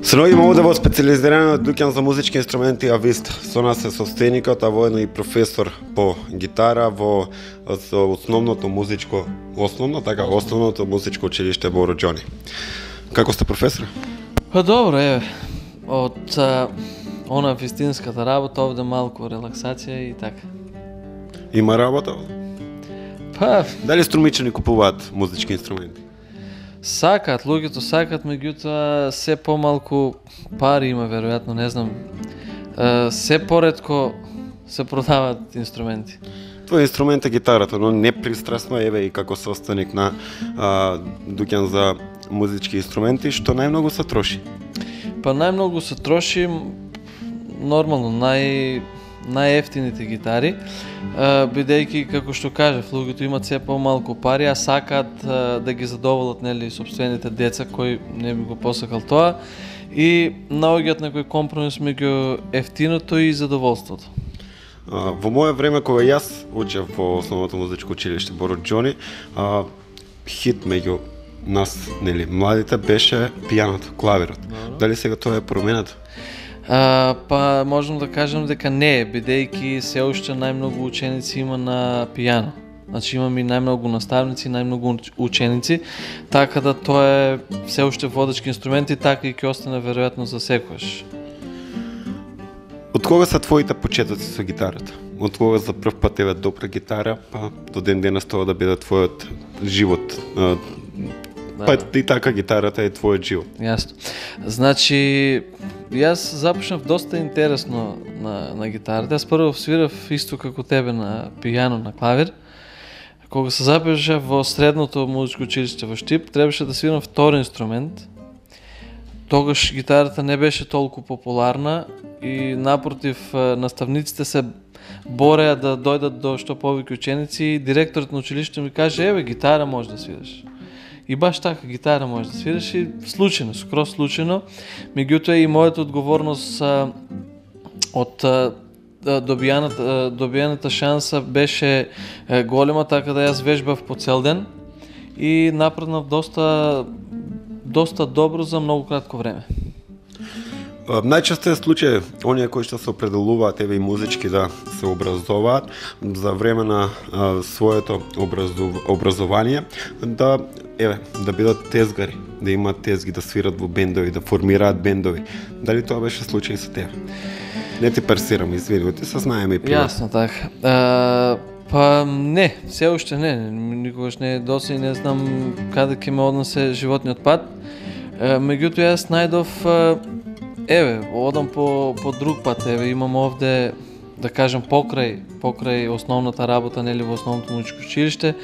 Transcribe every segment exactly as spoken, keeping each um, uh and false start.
Се наоѓаме овде во специализираниот дуќан за музички инструменти Авист. Со нас е состојникот, а воедно и професор по гитара во основното музичко, основно така, основното музичко училиште во Роџони. Како сте, професор? Па добро, еве. Од а, она вистинската работа овде малку релаксација и така. Има работа? Па, дали струмичани купуваат музички инструменти? Сакаат, луѓето сакаат, меѓутоа се помалку пари има, веројатно, не знам. Е, се поретко се продаваат инструменти. Твој инструмент е гитарата, но непристрасно, еве и како состојник на а, дуќан за музички инструменти, што најмногу се троши? Па најмногу се троши, нормално, нај најефтините гитари, бидејќи, како што кажав, луѓето имат се помалку пари, а сакаат да ги задоволат, нели, сопствените деца кои не би го посакал тоа, и наоѓаат некој компромис меѓу ефтиното и задоволството. Во моје време, кога јас учев во основното музичко училиште во Роџони, хит меѓу нас, нели, младите беше пијаното, клавирот. Дали сега тоа е променето? А, па можам да кажам дека не е, бидејќи се уште најмногу ученици има на пијано. Значи имаме и најмногу наставници, најмногу ученици, така да тоа е се уште водечки инструмент и така и ќе остане веројатно за секојаш. Од кога се твоите почетоци со гитарата? Од кога за прв пат еве допра гитара, па до ден денес тоа да биде твојот живот? Па и така гитарата е твојот живот. Јасно. Значи, јас започнав доста интересно на, на гитарата. Јас прво свирав исто како тебе на пијано, на клавир. Кога се запишав во средното музичко училиште во Штип, требаше да свирам втори инструмент. Тогаш гитарата не беше толку популарна и напротив наставниците се бореа да дојдат до што повеќе ученици и директорот на училиштето ми каже: "Еве, гитара може да свираш." И баш така, гитара може да свираш и случајно, скроз случајно. Меѓутоа и мојата одговорност а, од а, добијаната, добијаната шанса беше е, голема, така да јас вежбав по цел ден и напреднав доста доста добро за многу кратко време. Најчесто е случај оние кои што се определуваат еве и музички да се образуваат за време на а, своето образов... образование да еве да бидат тезгари, да имаат тезги, да свират во бендови, да формираат бендови. Дали тоа беше случај со тебе? Не ти персирам, извини, ти се знаеме и пример. Јасно, така. А, па не, се уште не, никогаш не доси и не знам каде ќе ме однесе животниот пат. А, меѓутоа јас најдов еве, одам по, по друг пат, еве, имам овде, да кажем, покрај, покрај основната работа, нели, во основното музичко училиште,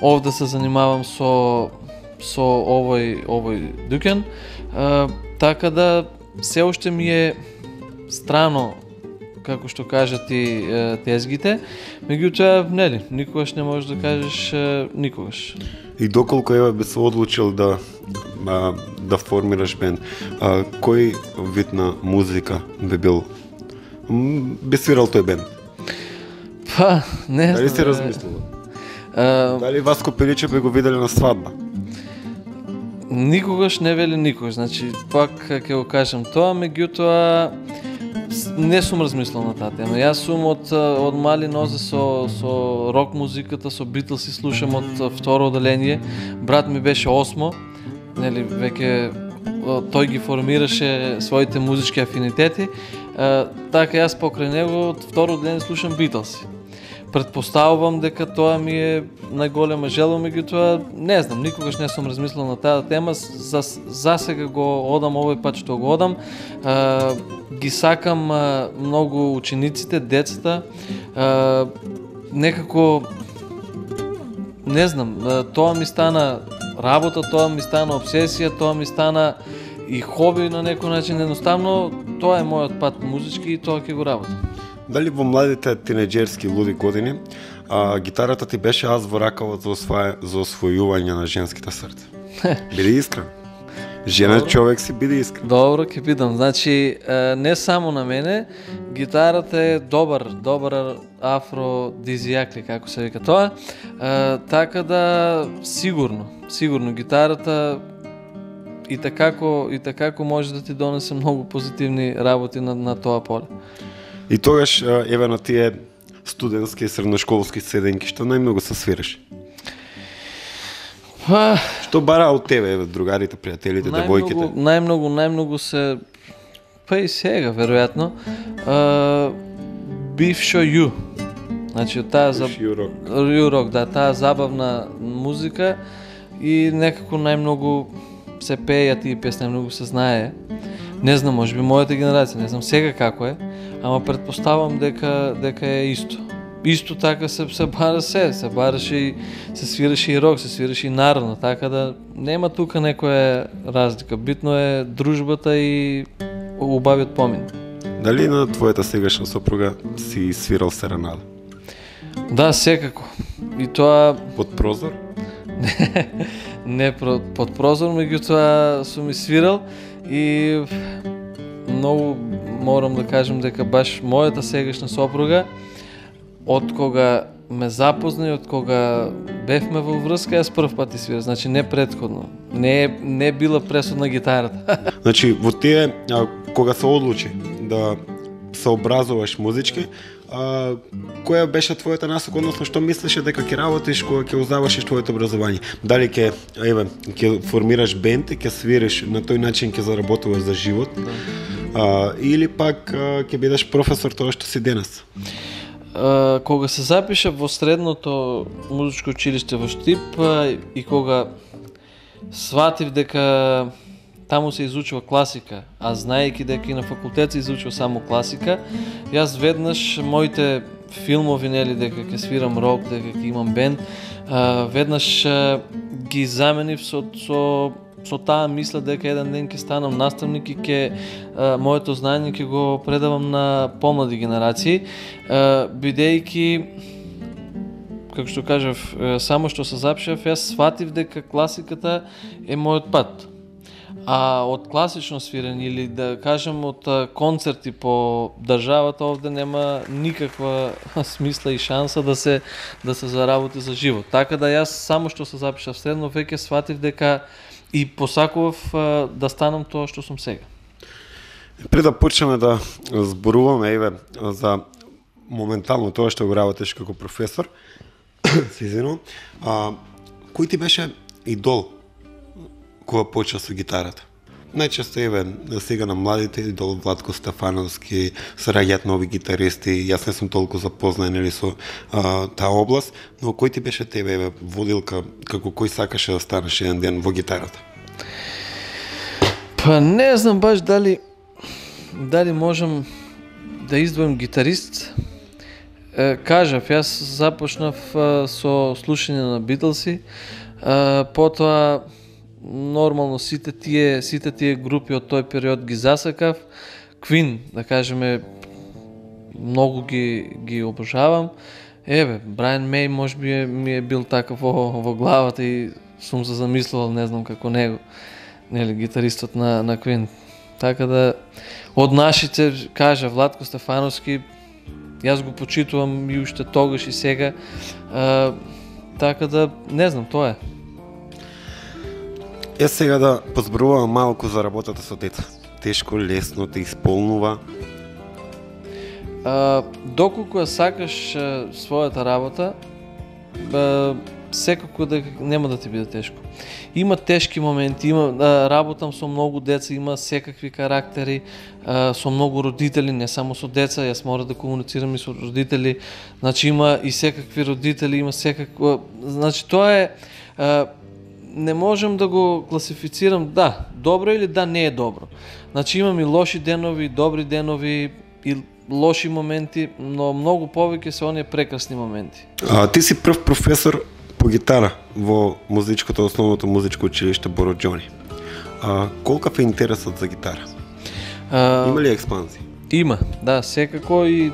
овде се занимавам со, со овој, овој дуќан, а, така да се уште ми е страно, како што кажат и е, тезгите, меѓутоа, нели, никогаш не можеш да кажеш е, никогаш. И доколку еве би се одлучил да а, да формираш бенд, а, кој вид на музика би бил би свирал тој бенд? Па, не знам. Дали си размислила? А, Дали Васко Пиличе би го виделе на свадба? Никогаш не вели никогаш, значи пак ќе го кажам тоа, меѓутоа не сум размислил на таа тема. Јас сум од од мали нозе со со рок музиката, со Битлз и слушам од второ оделение. Брат ми беше осмо, нели веќе тој ги формираше своите музички афинитети. А, така јас покрај него од второ оделение слушам Битлз. Предпоставувам дека тоа ми е најголема желба, меѓутоа не знам, никогаш не сум размислил на таа тема. За, за сега го одам овој пат што го одам. А, ги сакам а, многу учениците, децата. А, некако не знам, а, тоа ми стана работа, тоа ми стана обсесија, тоа ми стана и хоби на некој начин. Едноставно тоа е мојот пат музички и тоа ќе го работам. Дали во младите тинеџерски луди години а, гитарата ти беше аз во ракавот за, освоја, за освојување на женските срца? Биди искрен. Жена Добро. Човек си, биди искрен. Добро, ќе бидам. Значи, не само на мене, гитарата е добар, добар афродизијак ли, како се вика тоа. Така да, сигурно, сигурно, гитарата и такако и такако може да ти донесе многу позитивни работи на на тоа поле. И тогаш еве на тие студентски и средношколски седенки што најмногу се свириш? Па, што бара од тебе, еве, другарите, пријателите, девојките? Најмногу, најмногу се, па и сега веројатно, бившо ю. Значи таа за ю-рок, да, таа забавна музика и некако најмногу се пееја тие песни, најмногу се знае. Не знам, можеби мојата генерација, не знам сега како е, ама претпоставам дека дека е исто. Исто така се се бара се, се бараше и се свираше и рок, се свираше и народно, така да нема тука некоја разлика. Битно е дружбата и убавиот помин. Дали на твојата сегашна сопруга си свирал серенада? Да, секако. И тоа под прозор? Не, не под прозор, меѓутоа сум и свирал и многу морам да кажам дека баш мојата сегашна сопруга од кога ме запозна и од кога бевме во врска, јас прв пат свирам, значи не претходно. Не не била пресудна гитарата. Значи во тие а, кога се одлучи да се образуваш музички, а, која беше твојата насока, односно што мислеше дека ќе работиш кога ќе завршиш твоето образование? Дали ќе еве ќе формираш бенд, ќе свириш на тој начин, ќе заработуваш за живот? А, или пак а, ќе бидеш професор тоа што си денес? Uh, кога се запиша во средното музичко училиште во Штип uh, и кога сватив дека таму се изучува класика, а знаејќи дека и на факултет се изучува само класика, јас веднаш моите филмови, нели, дека ќе свирам рок, дека ќе имам бенд, uh, веднаш uh, ги заменив со, со со таа мисла дека еден ден ќе станам наставник и ќе моето знаење ќе го предавам на помлади генерации, а, бидејќи, како што кажав, само што се запишав, јас сватив дека класиката е мојот пат. А од класично свирење или да кажем од концерти по државата овде нема никаква смисла и шанса да се да се заработи за живот. Така да јас само што се запишав средно веќе сватив дека и посакував а, да станам тоа што сум сега. Пред да почнеме да зборуваме еве за моментално тоа што го работиш како професор, се извинувам, а кој ти беше идол кога почна со гитарата? Најчесто еве сега на младите идол Владко Стефановски, се раѓаат нови гитаристи, јас не сум толку запознаен или со а, таа област, но кој ти беше тебе еве водилка, како кој сакаше да станеш еден ден во гитарата? Па не знам баш дали дали можам да издвоим гитарист. Е, кажав, јас започнав а, со слушање на Битлси, а, потоа нормално сите тие сите тие групи од тој период ги засакав. Queen, да кажеме, многу ги ги обожавам. Еве, Брайан Мей можеби ми е бил таков во, во главата и сум се замислувал, не знам како него, нели, гитаристот на на Queen. Така да од нашите, кажа Владко Стефановски, јас го почитувам и уште тогаш и сега. А, така да не знам, тоа е. Е сега да позборувам малку за работата со деца. Тешко, лесно те исполнува? А, доколку ја сакаш а, својата работа, а, секако дека нема да ти биде тешко. Има тешки моменти, има а, работам со многу деца, има секакви карактери, а, со многу родители, не само со деца, јас мора да комуницирам и со родители. Значи има и секакви родители, има секакво, значи тоа е а, не можам да го класифицирам, да, добро или да не е добро. Значи имам и лоши денови, добри денови и лоши моменти, но многу повеќе се оние прекрасни моменти. А, ти си прв професор по гитара во музичкото, основното музичко училиште Боро Џони. А, колкав е интересот за гитара? А, има ли експанзија? Има, да, секако и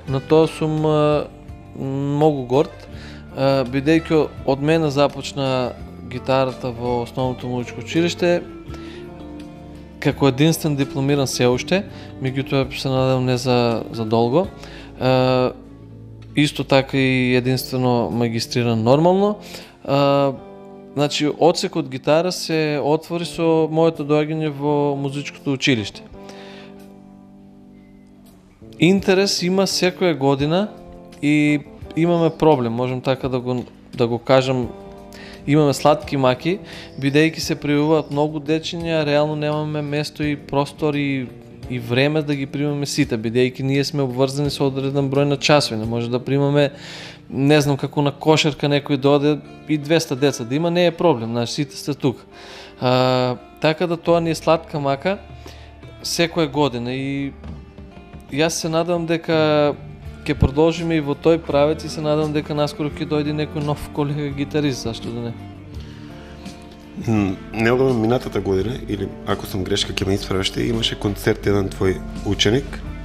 на тоа сум а, многу горд, а, бидејќи од мене започна гитарата во основното музичко училиште како единствен дипломиран се уште, меѓутоа се надевам не за за долго. Е, исто така и единствено магистриран нормално. Е, значи одсекот гитара се отвори со моето доаѓање во музичкото училиште. Интерес има секоја година и имаме проблем, можем така да го да го кажам, имаме сладки маки, бидејќи се пријавуваат многу дечиња, реално немаме место и простор и и време да ги примаме сите, бидејќи ние сме обврзани со одреден број на часови, не може да примаме, не знам, како на кошарка некој доде и двеста деца да има, не е проблем, значи сите сте тука. А, така да тоа ни е сладка мака секоја година и јас се надевам дека ќе продолжиме и во тој правец и се надевам дека наскоро ќе дојде некој нов колега гитарист, зашто да не. Неодамно минатата година, или ако сум грешка ќе ме исправиш, имаше концерт еден твој ученик.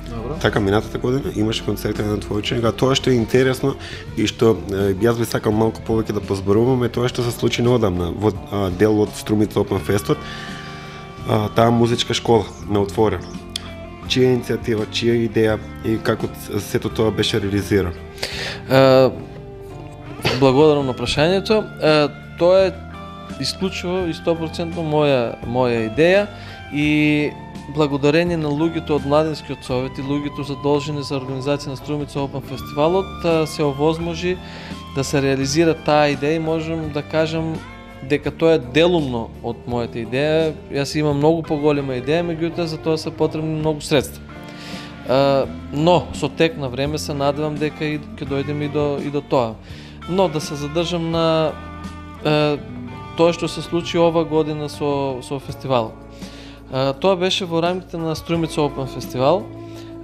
Добро. Така, минатата година имаше концерт еден твој ученик, а тоа што е интересно и што е, јас би сакал малку повеќе да позборуваме, тоа што се случи неодамна во а, дел од Струмица Open Festот, а, таа музичка школа на отворено. Чија иницијатива, чија идеја и како сето тоа беше реализирано? Uh, благодарам на прашањето. Uh, тоа е исклучиво и сто проценти моја моја идеја и благодарение на луѓето од Младинскиот совет и луѓето задолжени за организација на Струмица Open Фестивалот се овозможи да се реализира таа идеја и можам да кажам дека тоа е делумно од мојата идеја. Јас имам многу поголема идеја, меѓутоа за тоа се потребни многу средства. Uh, но со тек на време се надевам дека и ќе дојдеме и до и до тоа. Но да се задржам на uh, тоа што се случи ова година со со фестивалот. Uh, тоа беше во рамките на Струмица Open Фестивал,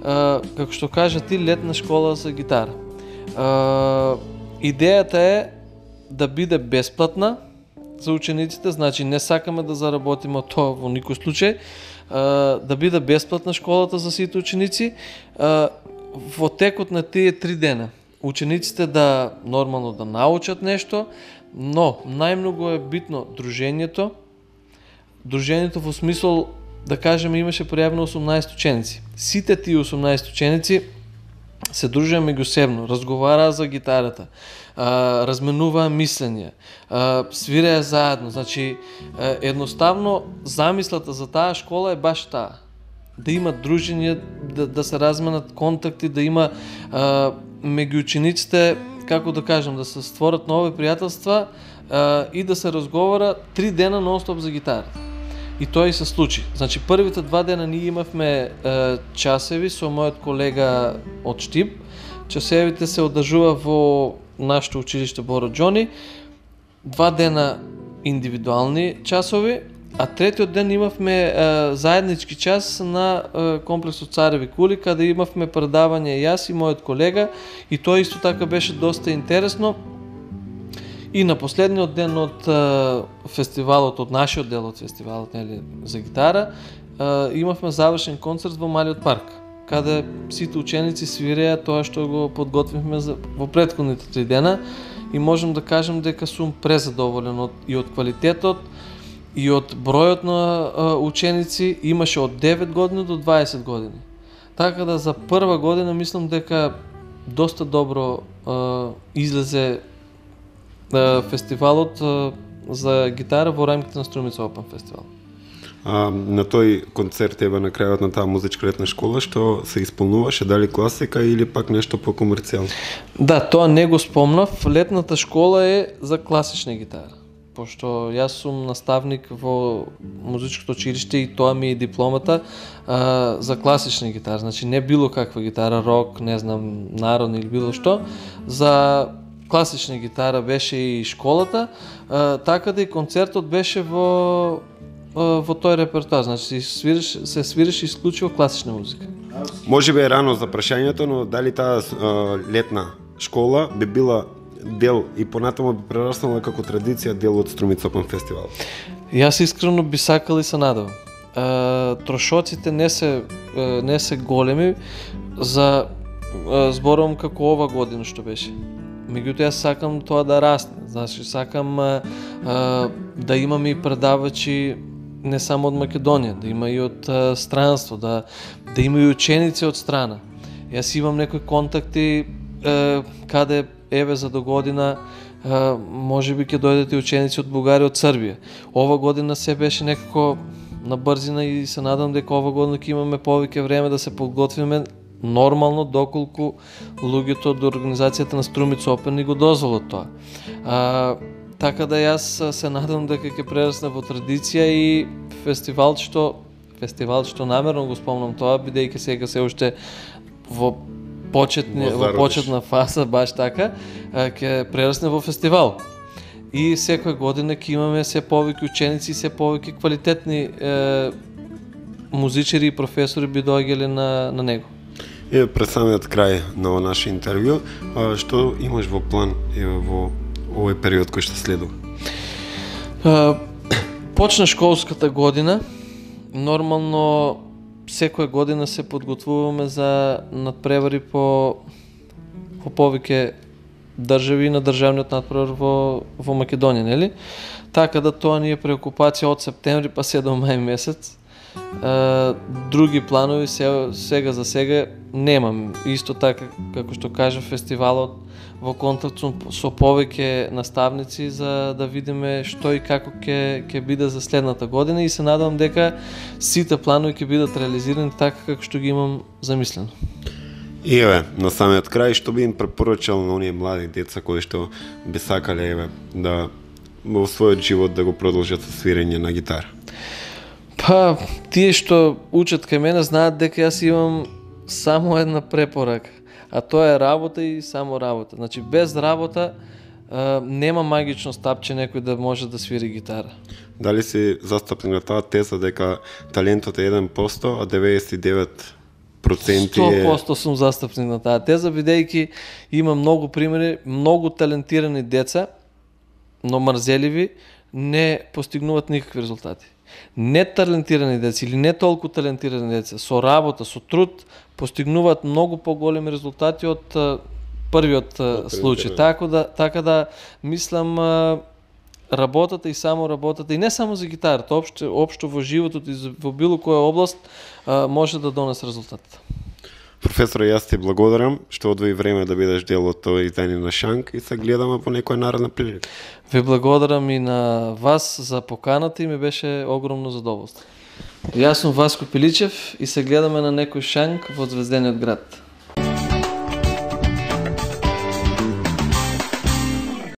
uh, како што кажа ти, летна школа за гитара. Uh, идејата е да биде бесплатна за учениците, значи не сакаме да заработиме од тоа во никој случај, uh, да биде бесплатна школата за сите ученици. Uh, во текот на тие три дена учениците да нормално да научат нешто, но најмногу е битно дружењето. Дружењето во смисол, да кажеме, имаше пријавено осумнаесет ученици. Сите тие осумнаесет ученици се дружеа меѓусебно, разговараа за гитарата, а, разменуваа мислења, а, свиреа заедно. Значи, а, едноставно замислата за таа школа е баш таа. Да има дружење, да, да се разменат контакти, да има а, меѓу учениците, како да кажам, да се створат нови пријателства а, и да се разговара три дена нон-стоп за гитарата. И тоа и се случи. Значи, првите два дена ние имавме е, часеви со мојот колега од Штип. Часевите се одржува во нашето училиште Боро Џони. Два дена индивидуални часови, а третиот ден имавме е, заеднички час на е, комплексот Цареви кули, каде имавме предавање јас и мојот колега, и тоа исто така беше доста интересно. И на последниот ден од uh, фестивалот, од нашиот дел од фестивалот, нели, за гитара, uh, имавме завршен концерт во Малиот парк, каде сите ученици свиреа тоа што го подготвивме за, во претходните три дена, и можам да кажам дека сум презадоволен од, и од квалитетот, и од бројот на uh, ученици. Имаше од девет години до дваесет години. Така да за прва година мислам дека доста добро uh, излезе фестивалот за гитара во рамките на Струмица Open Фестивал. А, на тој концерт ева на крајот на таа музичка летна школа, што се исполнуваше, дали класика или пак нешто по-комерцијално? Да, тоа не го спомнав. Летната школа е за класична гитара. Пошто јас сум наставник во музичкото училиште и тоа ми е дипломата а, за класична гитара. Значи не било каква гитара, рок, не знам, народна или било што. За класична гитара беше и школата, а, така да и концертот беше во во тој репертоар, значи се свириш, се свириш исклучиво класична музика. Може би е рано за прашањето, но дали таа а, летна школа би била дел и понатаму би прераснала како традиција дел од Струмица Open Фестивал? Јас искрено би сакал и се надевам. А, трошоците не се не се големи за а, зборувам како ова година што беше. Меѓутоа јас сакам тоа да расне. Значи сакам а, а, да имаме и предавачи не само од Македонија, да има и од а, странство, да да има и ученици од страна. Јас имам некои контакти а, каде еве за до година а, може би ќе дојдат и ученици од Бугарија, од Србија. Ова година се беше некако на брзина и се надам дека ова година ќе имаме повеќе време да се подготвиме нормално, доколку луѓето од организацијата на Струмица Опен ни го дозволат тоа. А, така да јас се надам дека ќе прерасне во традиција и фестивалчето, фестивалчето намерно го спомнам тоа, бидејќи сега се уште во почетни, во почетна фаза, баш така, ќе прерасне во фестивал. И секоја година ќе имаме се повеќе ученици и се повеќе квалитетни е, музичари и професори би доаѓале на, на него. Е, пред самиот крај на наше интервју, а, што имаш во план е, во овој период кој што следува? А, почна школската година, нормално секоја година се подготвуваме за надпревари по, по повеќе држави на државниот надпревар во, во Македонија, нели? Така да тоа ни е преокупација од септември па се до мај месец. Uh, други планови се, сега за сега немам. Исто така, како што кажа, фестивалот во контакт со повеќе наставници за да видиме што и како ќе ќе биде за следната година и се надевам дека сите планови ќе бидат реализирани така како што ги имам замислено. И еве, на самиот крај, што би им препорачал на оние млади деца кои што би сакале еве да во својот живот да го продолжат со свирење на гитара? Па, тие што учат кај мене знаат дека јас имам само една препорака, а тоа е работа и само работа. Значи, без работа а, нема магично стапче некој да може да свири гитара. Дали си застапник на таа теза дека талентот е еден процент, а деветдесет и девет проценти е... сто проценти сум застапник на таа теза, бидејќи има многу примери, многу талентирани деца, но мрзеливи, не постигнуваат никакви резултати. Неталентирани деца или не толку талентирани деца со работа, со труд постигнуваат многу поголеми резултати од а, првиот а, случај. Така да така да мислам а, работата и само работата и не само за гитарата, општо општо во животот и во било која област а, може да донесе резултат. Професор, јас ти благодарам што одвои време да бидеш дел од тоа издание на Шанк и се гледаме по некоја наредна прилика. Ви благодарам и на вас за поканата и ми беше огромно задоволство. Јас сум Васко Пиличев и се гледаме на некој Шанк во Звездениот град.